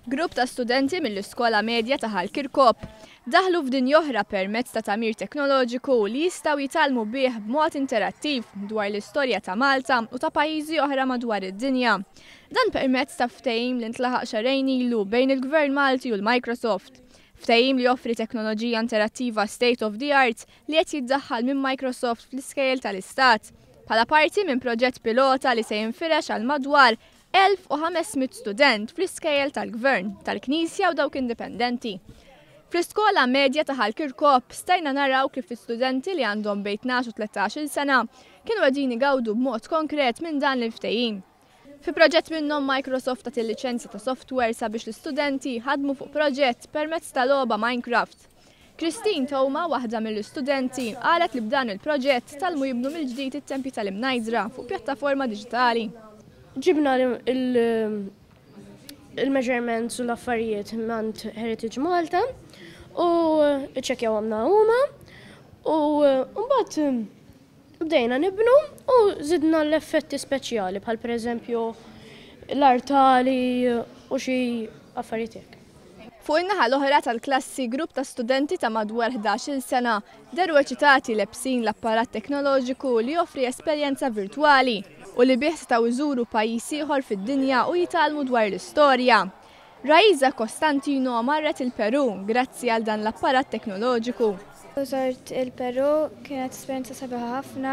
Grupp ta' studenti mill-Iskola Medja ta' Ħal Kirkop daħlu f'dinja oħra permezz ta' tagħmir teknoloġiku li jistgħu jitgħallmu bih b'mod interattiv dwar l-istorja ta' Malta u ta' pajjiżi oħra madwar id-dinja. Dan permezz ta' ftehim li ntlaħaq xahrejn ilu bejn il-Gvern Malti u l-Microsoft. Ftehim li joffri teknoloġija interattiva state of the art li qed jiddaħħal minn Microsoft fl-iskejjel tal-Istat bħala parti minn proġett pilota li se jinfirex għal madwar 1,500 student fl-iskejjel tal-Gvern, tal-Knisja u dawk indipendenti. Fl-iskola medja ta' Ħal Kirkop stajna naraw kif l-istudenti li għandhom bejn 12 u 13-il sena kienu qegħdin igawdu b'mod konkret minn dan il-ftehim. Fi proġett minnhom Microsoft tat il-liċenzja ta' software sabiex l-istudenti ħadmu fuq proġett permezz ta' logħba Minecraft. Christine Toma, waħda mill-istudenti, qalet li b'dan il-proġett tgħallmu jibnu mill-ġdid it-tempji tal-Imnajdra fuq pjattaforma diġitali. Ġibna il-measurements u l-affarijiet mingħand Heritage Malta u ċċekkjawhomlna huma u mbagħad bdejna nibnu u żidna l-effetti speċjali bħal pereżempju l-artali u xi affarijiet hekk. Fuq in-naħa l-oħra tal-klassi grupp ta' studenti ta' madwar 11-il sena dehru eċitati lebsin l-apparat teknoloġiku li joffri esperjenza virtwali u li bih setgħu jżuru pajjiż ieħor fid-dinja u jitgħallmu dwar l-istorja. Raiza Costantino marret il-Peru grazzi għal dan l-apparat teknoloġiku. Żort il-Peru, kienet esperjenza sabiħa ħafna,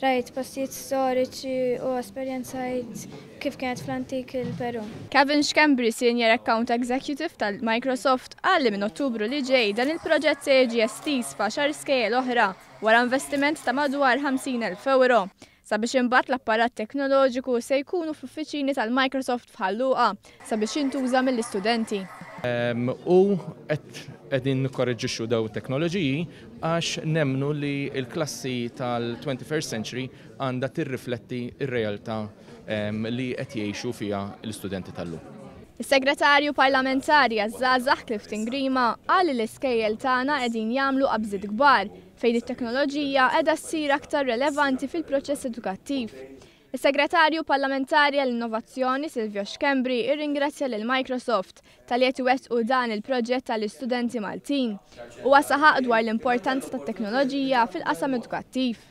rajt postijiet storiċi u esperjenzajt kif kienet fl-antik il-Peru. Kevin Schembri, Senior Account Executive tal-Microsoft, qal li minn Ottubru li ġej dan il-proġett se jiġi estiż f'għaxar skejjel oħra wara investiment ta' madwar 50,000 euro sabiex imbagħad l-apparat teknoloġiku se jkunu fl-uffiċini tal-Microsoft f'Ħal Luqa sabiex jintuża mill-istudenti. U qed qegħdin nikkoreġixxu daw it-teknoloġiji għax nemmnu li l-klassi tal-21st century għandha tirrifletti r-realtà li qed jgħixu fiha l-istudenti tal-lum. Is-Segretarju Parlamentari għaż-Żgħażagħ Clifton Grima qal li l-iskejjel tagħna qegħdin jagħmlu qabżiet kbar fejn it-teknoloġija qiegħda ssir aktar relevanti fil-proċess edukattiv. Is-Segretarju Parlamentari għall-Innovazzjoni Silvio Schembri irringrazzja lil Microsoft talli qed iwettqu dan il-proġett għall-istudenti Maltin. Huwa saħaq dwar l-importanza tat-teknoloġija fil-qasam edukattiv.